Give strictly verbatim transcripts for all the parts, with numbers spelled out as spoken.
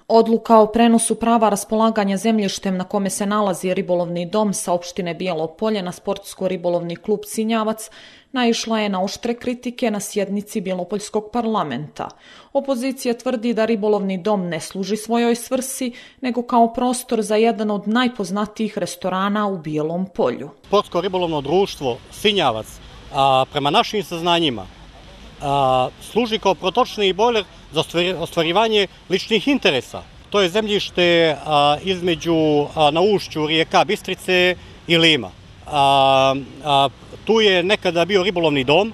Odluka o prenosu prava raspolaganja zemljištem na kome se nalazi ribolovni dom sa opštine Bijelo Polje na sportsko-ribolovni klub Sinjavac naišla je na oštre kritike na sjednici Bjelopoljskog parlamenta. Opozicija tvrdi da ribolovni dom ne služi svojoj svrsi, nego kao prostor za jedan od najpoznatijih restorana u Bijelom Polju. Sportsko-ribolovno društvo Sinjavac, a, prema našim saznanjima, a, služi kao protočni bojler za ostvarivanje ličnih interesa. To je zemljište a, između a, na ušću rijeka Bistrice i Lima. A, a, tu je nekada bio ribolovni dom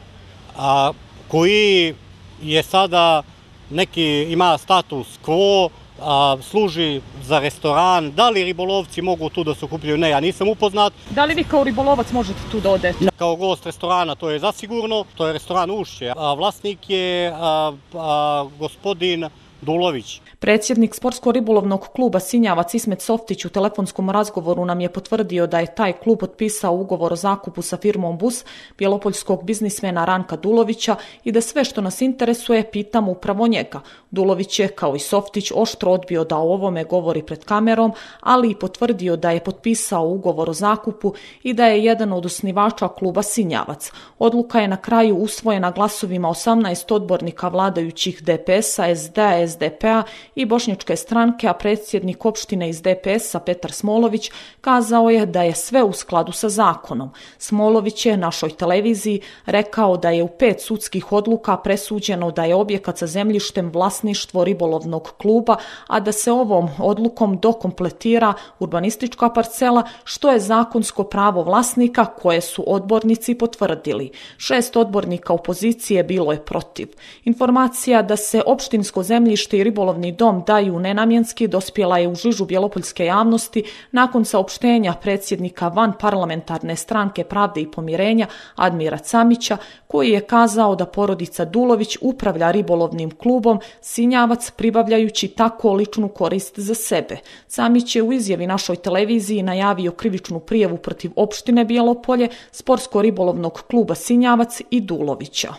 a, koji je sada neki ima status quo, a, služi za restoran. Da li ribolovci mogu tu da se okupljaju? Ne, ja nisam upoznat. Da li vi kao ribolovac možete tu da odete? Kao gost restorana to je zasigurno, to je restoran Ušće. A vlasnik je a, a, gospodin Dulović. Predsjednik sportsko-ribolovnog kluba Sinjavac Ismet Softić u telefonskom razgovoru nam je potvrdio da je taj klub potpisao ugovor o zakupu sa firmom Bus bjelopoljskog biznismena Ranka Dulovića i da sve što nas interesuje pitamo upravo njega. Dulović je, kao i Softić, oštro odbio da o ovome govori pred kamerom, ali i potvrdio da je potpisao ugovor o zakupu i da je jedan od osnivača kluba Sinjavac. Odluka je na kraju usvojena glasovima osamnaest odbornika vladajućih D P S-a, S D A, S D P-a i Bošnjačke stranke, a predsjednik opštine iz D P S-a Petar Smolović kazao je da je sve u skladu sa zakonom. Smolović je našoj televiziji rekao da je u pet sudskih odluka presuđeno da je objekat sa zemljištem vlasništvo ribolovnog kluba, a da se ovom odlukom dokompletira urbanistička parcela, što je zakonsko pravo vlasnika koje su odbornici potvrdili. Šest odbornika opozicije bilo je protiv. Informacija da se opštinsko zemljište i ribolovni dom daju nenamjenski dospjela je u žižu bjelopoljske javnosti nakon saopštenja predsjednika van parlamentarne stranke Pravde i pomirenja Admira Camića, koji je kazao da porodica Dulović upravlja ribolovnim klubom Sinjavac pribavljajući tako ličnu korist za sebe. Camić je u izjavi našoj televiziji najavio krivičnu prijavu protiv opštine Bijelo Polje, sportsko-ribolovnog kluba Sinjavac i Dulovića.